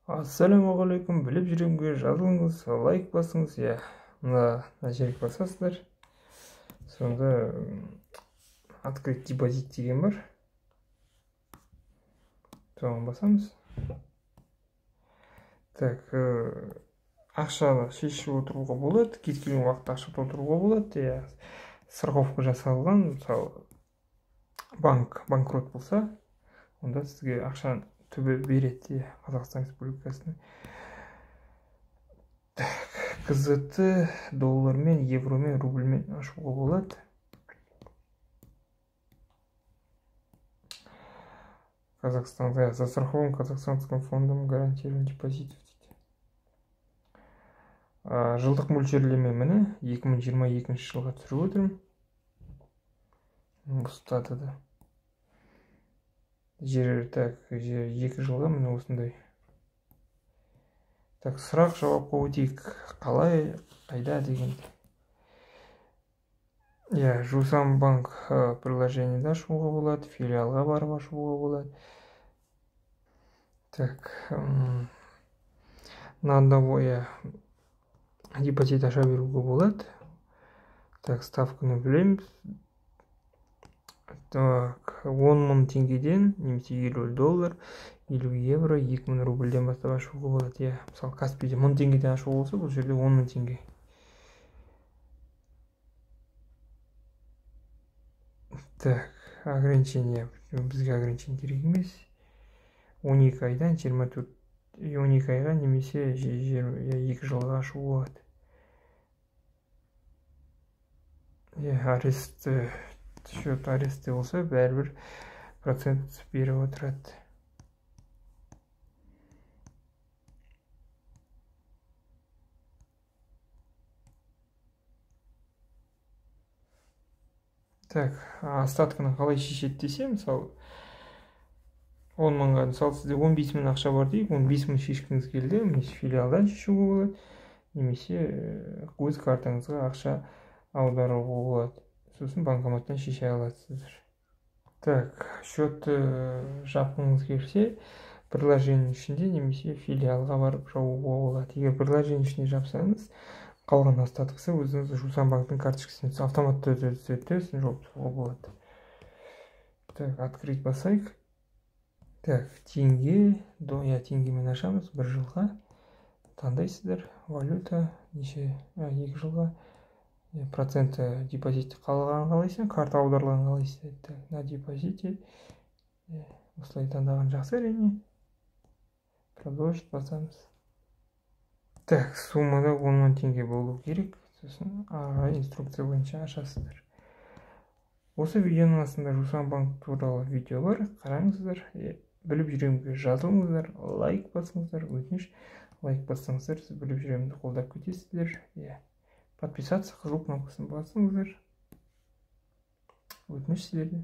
Ассалаумағалейкум, біліп жүремге жазылыңыз, лайк басыңыз, мына жерге басасыздар. Сонда открыть депозит деген бар. Соған басамыз. Так, ақшаны шешіп отыруға болады, кез келген уақытта ақша толтыруға болады. Страховка жасалған, мысалы банкрот болса, онда сізге ақшаны түбі береді, Қазақстан Республикасының. КЗТ доллармен, евромен, рубльмен ашуға болады. Казахстанда застрахован Казахстанским фондом гарантирован депозитов дейді. Жылдық мөлшерлеме міне 2022 жылға түсіріп отырмын. Ұстады да. Жер 2 жылға міне осындай. Так, сұрақ жауапқа өтейік. Қалай, қайда деген. Жусан банк приложениеде ашуға болады, филиалға барып ашуға болады. Так, на одного депозит аша беруге болады. Так, ставканы білеміз. Так, 10 000 теңгеден, немесе 50 доллар, 50 евро, 2000 рубльден бастап ашуға болады. Мысалы, Каспийде 1000 теңгеден ашуға болса, бұл жерде 10 000 теңге. Так, ограничение. Бізге ограничение керек емес. 12 айдан 12 айға немесе 2 жылға ашуға болады. Арест, счет аресте болса, бәрібір процент беріп отырады. Так, остатканы қалай шешеді десе, мысалы 10 мыңға, мысалы сізде 15 000 ақша бар дейік, 15 000 шешкіңіз келді, немесе филиалдан шешуге болады, немесе өз картаңызға ақша аударуға болады. Сосын банкоматтан шеше аласыздар. Так, счетты жапқыңыз келсе, приложение ішінде немесе филиалға барып жабуға болады. Егер приложение ішінде жапсаңыз, қалған остаткысы өзіңіз Жусан банктың карточкасына автоматты өтеді, жауып тастауға болады. Так, открыть басайық. Так, теңгемен ашамыз 1 жылға. Таңдайсыздар, валюта, 2 жылға. Проценті депозитті қалған қалайсың, карта аударылған қалайсың. Так, на депозите. Осылай таңдаған жақсы әрине. Продолжить басамыз. Так, суммада 10 000 теңге болу керек. Сосын инструкция бойынша ашасыздар. Осы видеоның астында Жусан банк туралы видео бар, қараңыздар. Біліп жүремге жазылыңыздар, лайк басыңыздар, өтініш лайк бассаңыздар, сіз біліп жүремді қолдап кетесіздер. Подписаться қызыл кнопкасын басыңыздар. Өтініш сіздерде.